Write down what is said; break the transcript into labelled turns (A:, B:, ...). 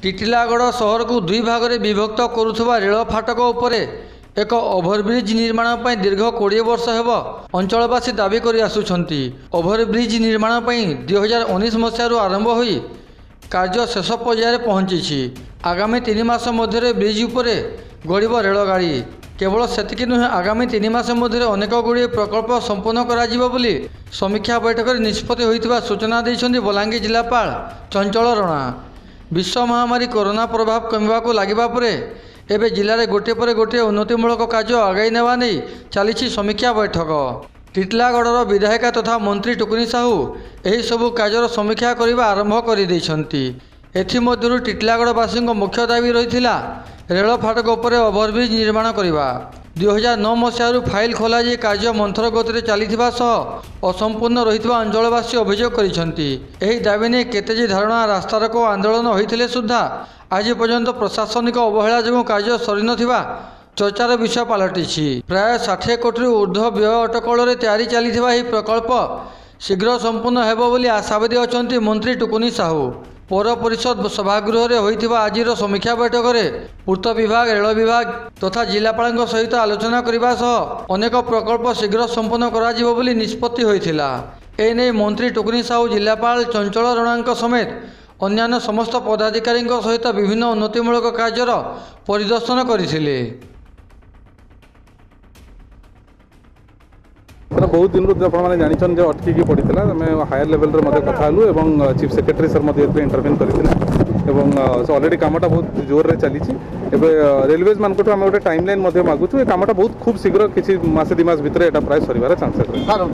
A: ଟିଟିଲାଗଡ଼ ସହରକୁ ଦୁଇ ଭାଗରେ ବିଭକ୍ତ କରୁଥିବା ରେଳ ଫାଟକ ଉପରେ ଏକ ଓଭରବ୍ରିଜ୍ ନିର୍ମାଣ ପାଇଁ ଦୀର୍ଘ 20 ବର୍ଷ ହେବ ଅଞ୍ଚଳବାସୀ ଦାବି କରି ଆସୁଛନ୍ତି। ଓଭରବ୍ରିଜ୍ ନିର୍ମାଣ ପାଇଁ 2019 ମସିହାରୁ ଆରମ୍ଭ ହୋଇ କାର୍ଯ୍ୟ ଶେଷ ପର୍ଯ୍ୟାୟରେ ପହଞ୍ଚିଛି। ଆଗାମୀ 3 ମାସ ମଧ୍ୟରେ ବ୍ରିଜ୍ ଉପରେ ଗଡ଼ିବ ରେଳଗାଡ଼ି। କେବଳ ସେତିକି ନୁହେଁ, ଆଗାମୀ 3 ମାସ ମଧ୍ୟରେ ଅନେକ ଗୁଡ଼ିଏ ପ୍ରକଳ୍ପ ସମ୍ପୂର୍ଣ୍ଣ କରାଯିବ ବୋଲି ସମୀକ୍ଷା ବୈଠକରେ ନିଷ୍ପତ୍ତି ହୋଇଥିବା ସୂଚନା ଦେଇଛନ୍ତି ବଲାଙ୍ଗୀର ଜିଲ୍ଲାପାଳ ଚଞ୍ଚଳ ରଣା। ବିଶ୍ୱ ମହାମାରୀ କରୋନା ପ୍ରଭାବ କମିବାକୁ ଲାଗିବା ପରେ ଏବେ ଜିଲ୍ଲାରେ ଗୋଟିଏ ପରେ ଗୋଟିଏ ଉନ୍ନତିମୂଳକ କାର୍ଯ୍ୟ ଆଗେଇ ନେବା ନେଇ ଚାଲିଛି ସମୀକ୍ଷା ବୈଠକ। ଟିଟିଲାଗଡ଼ର ବିଧାୟିକା ତଥା ମନ୍ତ୍ରୀ ଟୁକୁନି ସାହୁ ଏହିସବୁ କାର୍ଯ୍ୟର ସମୀକ୍ଷା କରିବା ଆରମ୍ଭ କରିଦେଇଛନ୍ତି। ଏଥିମଧ୍ୟରୁ ଟିଟିଲାଗଡ଼ବାସୀଙ୍କ ମୁଖ୍ୟ ଦାବି ରହିଥିଲା ରେଳ ଫାଟକ ଉପରେ ଓଭରବ୍ରିଜ୍ ନିର୍ମାଣ କରିବା। 2009 ମସିହାରୁ ଫାଇଲ୍ ଖୋଲାଯାଇ କାର୍ଯ୍ୟ ମନ୍ଥର ଗତିରେ ଚାଲିଥିବା ସହ ଅସମ୍ପୂର୍ଣ୍ଣ ରହିଥିବା ଅଞ୍ଚଳବାସୀ ଅଭିଯୋଗ କରିଛନ୍ତି। ଏହି ଦାବି ନେଇ କେତେ ଯେ ଧାରଣା, ରାସ୍ତାରୋକ ଆନ୍ଦୋଳନ ହୋଇଥିଲେ ସୁଦ୍ଧା ଆଜି ପର୍ଯ୍ୟନ୍ତ ପ୍ରଶାସନିକ ଅବହେଳା ଯୋଗୁଁ କାର୍ଯ୍ୟ ସରିନଥିବା ଚର୍ଚ୍ଚାର ବିଷୟ ପାଲଟିଛି। ପ୍ରାୟ 60 କୋଟିରୁ ଉର୍ଦ୍ଧ୍ୱ ବ୍ୟୟ ଅଟକଳରେ ତିଆରି ଚାଲିଥିବା ଏହି ପ୍ରକଳ୍ପ ଶୀଘ୍ର ସମ୍ପୂର୍ଣ୍ଣ ହେବ ବୋଲି ଆଶାବାଦୀ ଅଛନ୍ତି ମନ୍ତ୍ରୀ ଟୁକୁନି ସାହୁ। ପୌର ପରିଷଦ ସଭାଗୃହରେ ହୋଇଥିବା ଆଜିର ସମୀକ୍ଷା ବୈଠକରେ ପୂର୍ତ୍ତ ବିଭାଗ, ରେଳ ବିଭାଗ ତଥା ଜିଲ୍ଲାପାଳଙ୍କ ସହିତ ଆଲୋଚନା କରିବା ସହ ଅନେକ ପ୍ରକଳ୍ପ ଶୀଘ୍ର ସମ୍ପୂର୍ଣ୍ଣ କରାଯିବ ବୋଲି ନିଷ୍ପତ୍ତି ହୋଇଥିଲା। ଏନେଇ ମନ୍ତ୍ରୀ ଟୁକୁନି ସାହୁ ଜିଲ୍ଲାପାଳ ଚଞ୍ଚଳ ରଣାଙ୍କ ସମେତ ଅନ୍ୟାନ୍ୟ ସମସ୍ତ ପଦାଧିକାରୀଙ୍କ ସହିତ ବିଭିନ୍ନ ଉନ୍ନତିମୂଳକ କାର୍ଯ୍ୟର ପରିଦର୍ଶନ କରିଥିଲେ।
B: ବହୁତ ଦିନରୁ ଆପଣମାନେ ଜାଣିଛନ୍ତି ଯେ ଅଟକିକି ପଡ଼ିଥିଲା। ଆମେ ହାୟର ଲେଭେଲରେ ମଧ୍ୟ କଥା ହେଲୁ ଏବଂ ଚିଫ୍ ସେକ୍ରେଟାରୀ ସାର୍ ମଧ୍ୟ ଏଥିରେ ଇଣ୍ଟରଭେନ୍ କରିଥିଲେ ଏବଂ ଅଲରେଡ଼ି କାମଟା ବହୁତ ଜୋରରେ ଚାଲିଛି। ଏବେ ରେଲୱେଜ୍ ମାନଙ୍କଠୁ ଆମେ ଗୋଟେ ଟାଇମ୍ ଲାଇନ୍ ମଧ୍ୟ ମାଗୁଛୁ। ଏ କାମଟା ବହୁତ ଖୁବ୍ ଶୀଘ୍ର କିଛି ମାସେ 2 ମାସ ଭିତରେ ଏଇଟା ପ୍ରାୟ ସରିବାର ଚାନ୍ସେସ୍ ରହିଛି।